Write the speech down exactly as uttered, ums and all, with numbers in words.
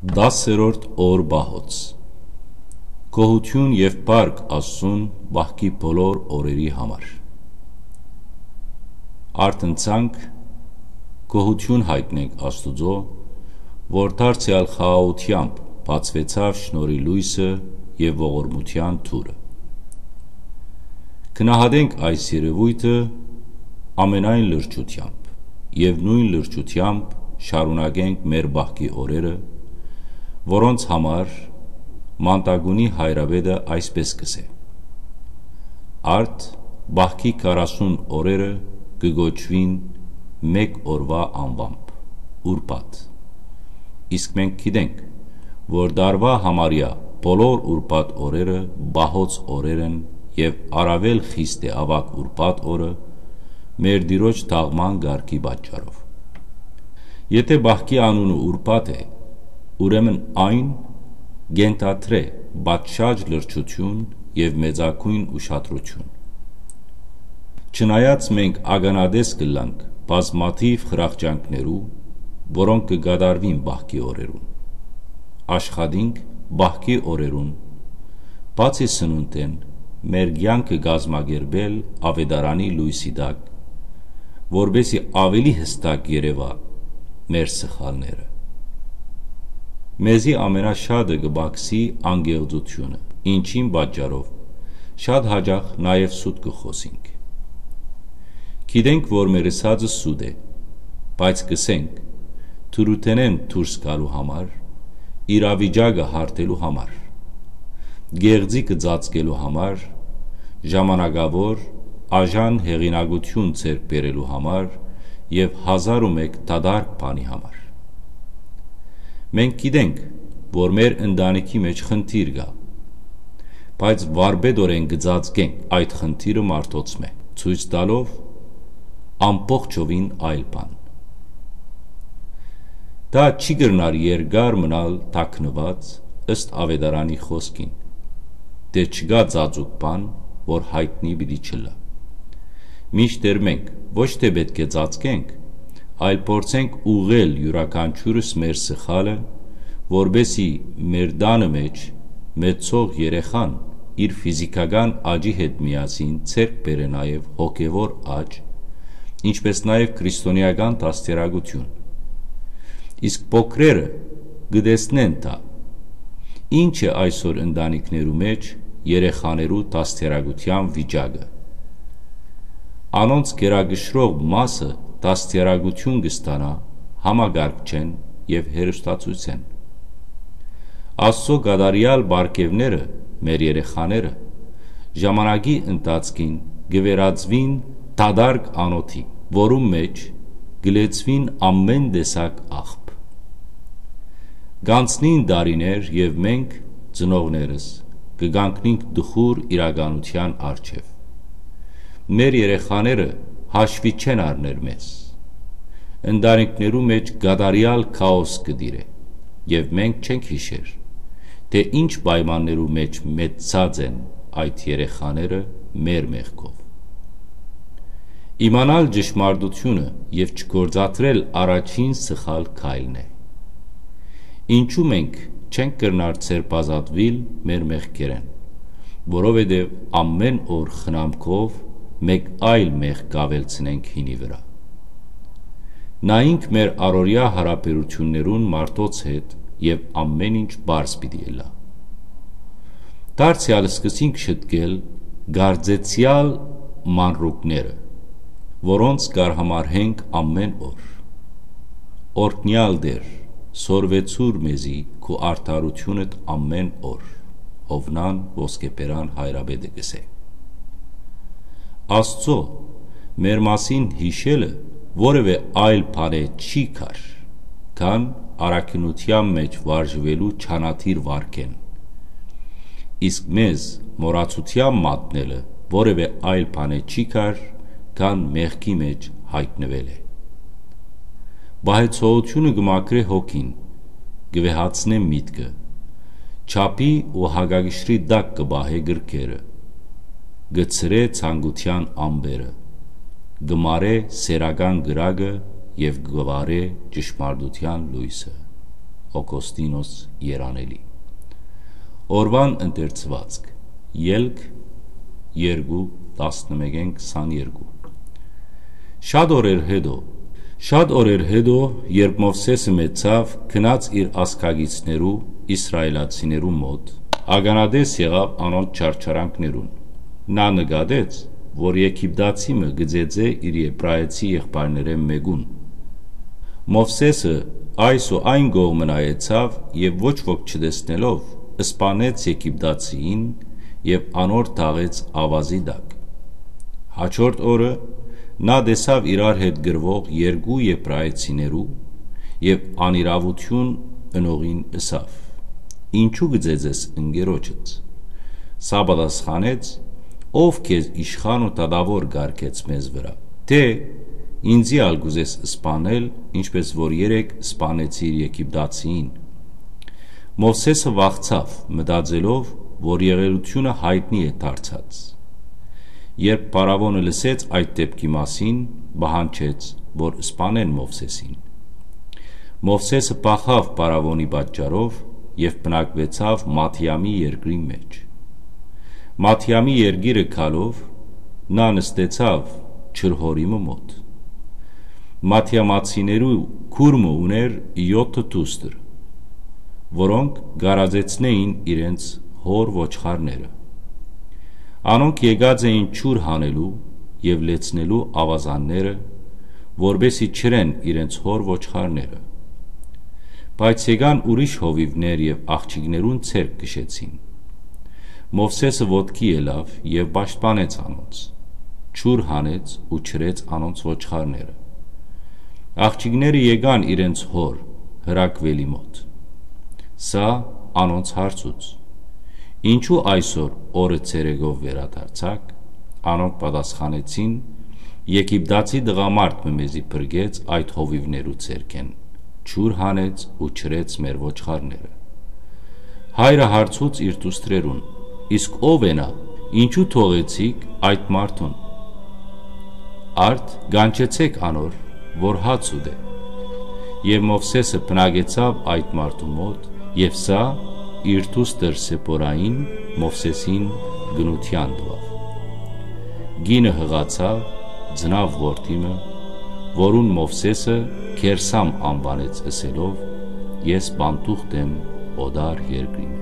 Տասերորդ օր պահոց։ Գոհութիւն եւ փառք Աստծուն պահքի բոլոր օրերի համար։ Արթնցանք, գոհութիւն յայտնենք Աստուծոյ, որ դարձեալ խաղաղութեամբ բացուեցաւ շնորհի լոյսը եւ ողորմութեան դուռը։ Գնահատենք այս երեւոյթը ամենայն լրջութեամբ եւ նոյն լրջութեամբ շարունակենք մեր պահքի օրերը, որոնց համար Մանտագունի հայրապետը այսպէս կ'ըսէ. «Արդ պահքի քառասուն օրերը կը կոչուին մէկ օրուայ անուամբ՝ ուրբաթ։ Իսկ մենք գիտենք, որ տարուայ համարեայ բոլոր ուրբաթ օրերը պահոց օրեր են եւ առաւել խիստ է աւագ ուրբաթ օրը՝ մեր Տիրոջ թաղման կարգի պատճառով։ Եթէ պահքի անունը ուրբաթ է, ուրեմն այն կ'ենթադրէ պատշաճ լրջութիւն եւ մեծագոյն ուշադրութիւն։ Չնայած մենք ականատես կ'ըլլանք բազմաթիւ խրախճանքներու, որոնք կը կատարուին պահքի օրերուն, աշխատինք պահքի օրերուն, բացի սնունդէն, մեր կեանքը կազմակերպել աւետարանի լոյսի տակ, որպէս զի աւելի յստակ երեւայ մեր սխալները։ Մեզի ամենաշատը կը պակսի անկեղծութիւնը, ինչին պատճառով շատ յաճախ նաեւ սուտ կը խօսինք։ Գիտենք, որ մեր ըսածը սուտ է, բայց կ'ըսենք՝ դրութենէն դուրս գալու համար, իրավիճակը հարթելու համար, կեղծիքը ծածկելու համար, ժամանակաւոր, աժան հեղինակութիւն ձեռք բերելու համար եւ հազար ու մէկ դատարկ բանի համար։ Մենք գիտենք, որ մեր ընտանիքի մէջ խնդիր կայ, բայց վարպետօրէն կը ծածկենք այդ խնդիրը մարդոցմէ, ցոյց տալով ամբողջովին այլ բան։ Դա չի կրնար երկար մնալ թաքնուած, ըստ աւետարանի խօսքին, թէ չկայ ծածուկ բան, որ յայտնի պիտի չըլլայ։ Մինչդեռ մենք ոչ թէ պէտք է ծածկենք, այլ փորձենք ուղղել իւրաքանչիւրս մեր սխալը, որպէս զի մեր տանը մէջ մեծցող երեխան իր ֆիզիքական աճի հետ միասին ձեռք բերէ նաեւ հոգեւոր աճ, ինչպէս նաեւ քրիստոնէական դաստիարակութիւն։ Իսկ փոքրերը կը տեսնեն դա։ Ի՞նչ է այսօր ընտանիքներու մէջ երեխաներու դաստիարակութեան վիճակը։ Անոնց գերակշռող մասը դաստիարակութիւն կը ստանայ համակարգչէն եւ հեռուստացոյցէն։ Աստուծոյ կատարեալ պարգեւները մեր երեխաները ժամանակի ընթացքին կը վերածուին դատարկ անոթի, որուն մէջ կը լեցուին ամէն տեսակ աղբ։ Կ'անցնին տարիներ եւ մենք, ծնողներս, կը կանգնինք տխուր իրականութեան առջեւ։ Մեր երեխաները հաշուի չեն առներ մեզ։ Ընտանիքներու մէջ կատարեալ քաոս կը տիրէ եւ մենք չենք յիշեր, թէ ինչ պայմաններու մէջ մեծցած են այդ երեխաները մեր մեղքով։ Իմանալ ճշմարտութիւնը եւ չգործադրել առաջին սխալ քայլն է։ Ինչու մենք չենք կրնար ձերբազատուիլ մեր մեղքերէն, որովհետեւ ամէն օր խնամքով մէկ այլ մեղք կ'աւելցնենք հինի վրայ։ Նայինք մեր առօրեայ յարաբերութիւններուն մարդոց հետ եւ ամէն ինչ պարզ պիտի ըլլայ։ Դարձեալ սկսինք շտկել կարծեցեալ մանրուքները, որոնց կ'արհամարհենք ամէն օր։ Օրհնեալ Տէր, սորվեցուր մեզի քու արդարութիւնդ ամէն օր, Յովնան Ոսկեբերան հայրապետը կ'ըսէ։ Աստուծոյ մեր մասին յիշելը որեւէ այլ բանէ չի կար, քան առաքինութեան մէջ վարժուելու չանադիր վարքէն։ Իսկ մեզ մոռացութեան մատնելը որեւէ այլ բանէ չի կար, քան մեղքի մէջ յայտնուելը։ Պահեցողութիւնը կը մաքրէ հոգին, կը վեհացնէ միտքը, չափի ու հակակշռի տակ կը պահէ կրքերը, կը ցրէ ցանկութեան ամպերը, կը մարէ սեռական կրակը եւ կը վառէ ճշմարտութեան լոյսը։ Հոկոստինոս Երանելի։ Օրուան ընթերցուածք։ Ելք երկու, տասնմէկէն քսաներկու։ Շատ օրեր հետո, շատ օրեր հետո, երբ Մովսէսը մեծցաւ, գնաց իր ազգակիցներու, իսրայելացիներու մօտ, ականատես եղաւ անոնց չարչարանքներուն։ Նա նկատեց, որ եգիպտացի մը կը ծեծէ իր եբրայեցի եղբայրներէն մէկուն։ Մովսէսը այս ու այն կողմը նայեցաւ եւ ոչ ոք չտեսնելով, սպանեց եգիպտացիին եւ անոր թաղեց աւազի տակ։ Հաջորդ օրը նա տեսաւ իրար հետ կռուող երկու եբրայեցիներու եւ անիրաւութիւն ընողին ըսաւ. «Ինչու կը ծեծես ընկերոջդ»։ Սա պատասխանեց. «Ո՞վ քեզ իշխան ու դատաւոր կարգեց մեզ վրայ, թէ ինծի ալ կ'ուզես սպանել, ինչպէս որ երեկ սպանեցիր եգիպտացիին»։ Մովսէսը վախցաւ, մտածելով, որ եղելութիւնը յայտնի է դարձած։ Երբ փարաւոնը լսեց այդ դէպքի մասին, պահանջեց, որ սպանեն Մովսէսին։ Մովսէսը փախաւ փարաւոնի պատճառով եւ բնակուեցաւ Մադիամի երկրին մէջ։ Մադիամի երկիրը գալով, նա նստեցաւ ջրհորի մը մօտ։ Մադիամացիներու քուր մը ունէր եօթը դուստր, որոնք կարածեցնէին իրենց հօր ոչխարները։ Անոնք եկած էին ջուր հանելու եւ լեցնելու աւազանները, որպէսզի չըրեն իրենց հօր ոչխարները։ Բայց եկան ուրիշ հովիւներ եւ աղջիկներուն ձեռք քշեցին։ Մովսէսը ոտքի ելաւ եւ պաշտպանեց անոնց, ջուր հանեց ու չըրեց անոնց ոչխարները։ Աղջիկները եկան իրենց հօր Հրակուելի մօտ։ Սա անոնց հարցուց. «Ինչու այսօր օրը ցերեկով վերադարձաք»։ Անոնք պատասխանեցին. «Եգիպտացի տղամարդ մը մեզի փրկեց այդ հովիւներու ձեռքէն, ջուր հանեց ու չըրեց մեր ոչխարները»։ Հայրը հարցուց իր դուստրերուն. «Իսկ ո՞վ է նա, ինչու թողեցիք այդ մարդուն»։ Արդ, կանչեցէք անոր, որ հաց ուտէ։ Եւ Մովսէսը բնակեցաւ այդ մարդու մօտ, եւ սա իր դուստր Սեփորային Մովսէսին կնութեան տուաւ։ Կինը յղացաւ, ծնաւ որդի մը, որուն Մովսէսը Գերսամ անուանեց, ըսելով. «Ես պանդուխտ եմ օտար երկրին»։